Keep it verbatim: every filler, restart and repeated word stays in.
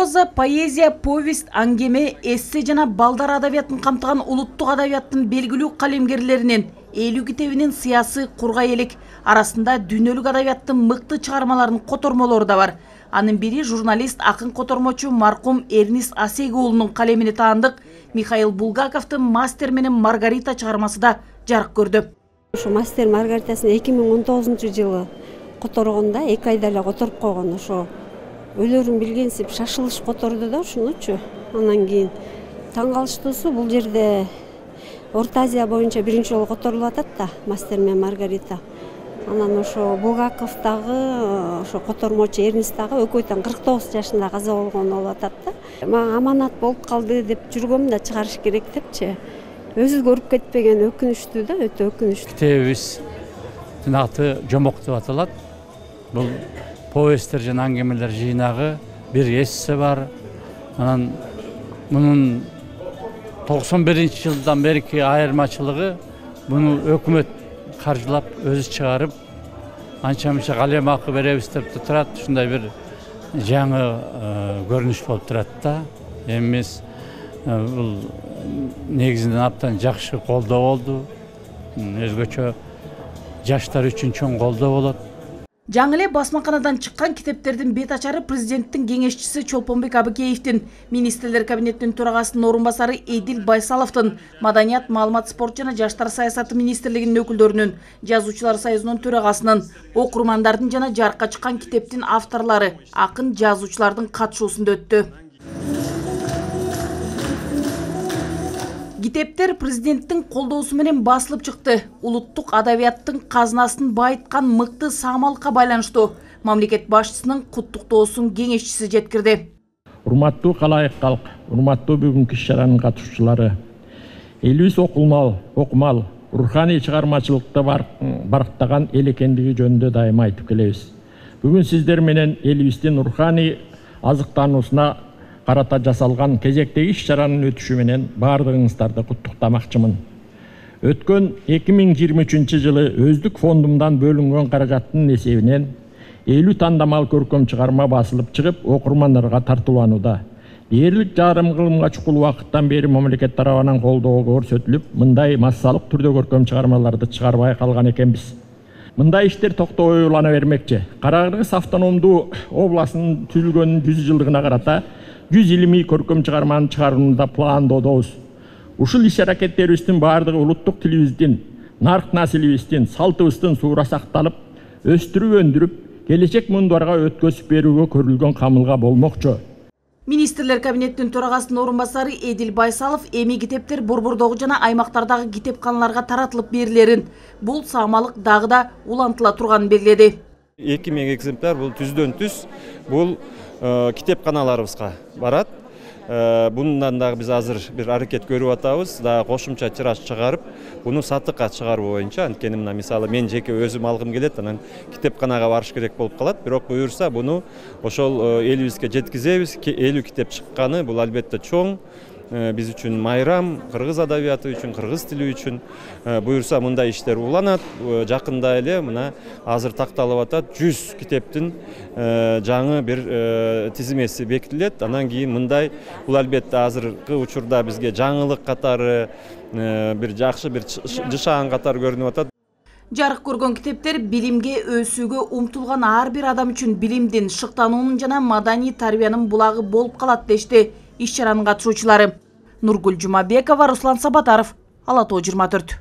проза, поэзия, повесть, аңгеме, эссе жана балдар адабиятын камтыган улуттук адабияттын белгилүү калемгерлеринин элүү китебинин сыясы кургай элек. Арасында дүйнөлүк адабияттын мыкты чыгармаларынын котормолору да бар. Анын бири журналист, акын котормочу маркум Эрнист Асеги уулунун калемине таандык Михаил Булгаковдун «Мастер менен Маргарита» чыгармасы да жарык көрдү. Ошо «Мастер Маргаритасын» эки миң он тогузунчу жылы которгонда, эки айда эле которуп койгон. Ошо өлөрүн билгенсип шашылыш которду да ушунучу. Анан кийин таң калыштуусу бул жерде Орто Азия боюнча биринчи жолу которулуп атат да «Мастер менен Маргарита». Анан ошо Булгаков дагы, ошо котормочу Эрнист дагы экөө тең кырк тогуз жашында каза болгон болуп атат да. Мага аманат болуп калды деп жүргөм да чыгарыш керек депчи. Өзү көрүп кетпеген өкүнүчтүү да, өтө өкүнүчтүү. Китебибиздин аты «Жомок» деп аталат. Бул повесттер жана аңгемелер жыйнагы, бир эссе бар. Анан мунун токсон биринчи жылдан берки айырмачылыгы буну өкмөт каржылап өзү чыгарып, анча-мынча калем акы беребиз деп турат. Ушундай бир жаңы көрүнүш болуп турат да. Эми бул негизинен абдан жакшы колдоо болду. Өзгөчө жаштар үчүн чоң колдоо болот. Жаңы эле басмаканадан чыккан китептердин бет ачары президенттин кеңешчиси Чолпонбек Абыкеевдин, министрлер кабинетинин төрагасынын орун басары Эдил Байсаловдун, Маданият, маалымат, спорт жана жаштар саясаты министрлигинин өкүлдөрүнүн, жазуучулар союзунун төрагасынын, окурмандардын жана жарыкка чыккан китептин авторлору, акын жазуучулардын катышуусунда өттү. Китептер президенттин колдоосу менен басылып чыкты. Улуттук адабияттын казынасын байыткан мыкты саамалыкка байланыштуу мамлекет башчысынын куттуктоосун кеңешчиси жеткирди. Урматтуу калайык калк, урматтуу бүгүнкү иш-чаранын катышуучулары, элибиз окулмал, окумал, руханий чыгармачылыкта барктаган эл экендиги жөнүндө дайыма айтып келебиз. Бүгүн сиздер менен элибиздин руханий азыктануусуна карата жасалган кезектеги иш-чаранын өтүшү менен баардыгыңыздарды куттуктамакчымын. Өткөн эки миң жыйырма үчүнчү жылы өздүк фондумдан бөлүнгөн каражаттын эсебинен элүү тандамал көркөм чыгарма басылып чыгып, окурмандарга тартууланууда. Дээрлик жарым кылымга чукул убакыттан бери мамлекет тарабынан колдоо көрсөтүлүп, мындай массалык түрдө көркөм чыгармаларды чыгарбай калган экенбиз. Мындай иштер токтобой улана бермекчи. Кара-Кыргыз автономдуу областынын түзүлгөнүнүн жүз жылдыгына карата жүз илимий көркөм чыгарманы чыгарууну да пландоодобуз. Ушул иш-аракеттерибиздин баардыгы улуттук тилибиздин, нарк насилибиздин, салтыбыздын суура сакталып, өстүрүп өндүрүп, келечек муундарга өткөзүп берүүгө көрүлгөн камылга болмокчу. Министрлер кабинетинин төрагасынын орун басары Эдил Байсалов эми китептер борбордогу жана аймактардагы китепканаларга таратылып берилерин, бул саамалык дагы да улантыла турганын белгиледи. эки миң экземпляр бул түздөн түз бул китепканаларыбызга барат. Bundan da biz азыр bir аракет көрүп атабыз, да кошумча тираж чыгарып, буну сатыкка чыгаруу боюнча, анткени мына мисалы мен жеке өзүм алгым келет, анан китепканага барыш керек болуп калат. Бирок буюрса буну ошол элибизге жеткизебиз. элүү китеп чыкканы бул албетте чоң. Биз үчүн майрам, кыргыз адабияты үчүн, кыргыз тили үчүн. Буюрса мындай иштер уланат. Жакында эле мына азыр такталып атат жүз китептин жаңы бир тизмеси бекитилет. Анан кийин мындай бул албетте азыркы учурда бизге жаңылык катары, бир жакшы бир жышаан катары көрүнүп атат. Жарык көргөн китептер билимге өсүүгө умтулган ар бир адам үчүн билимдин, шыктануунун жана маданий тарбиянын булагы болуп калат дешти иш-чаранын катышуучулары. Нургүл Жумабекова, Руслан Сабатаров, Ала Тоо жыйырма төрт.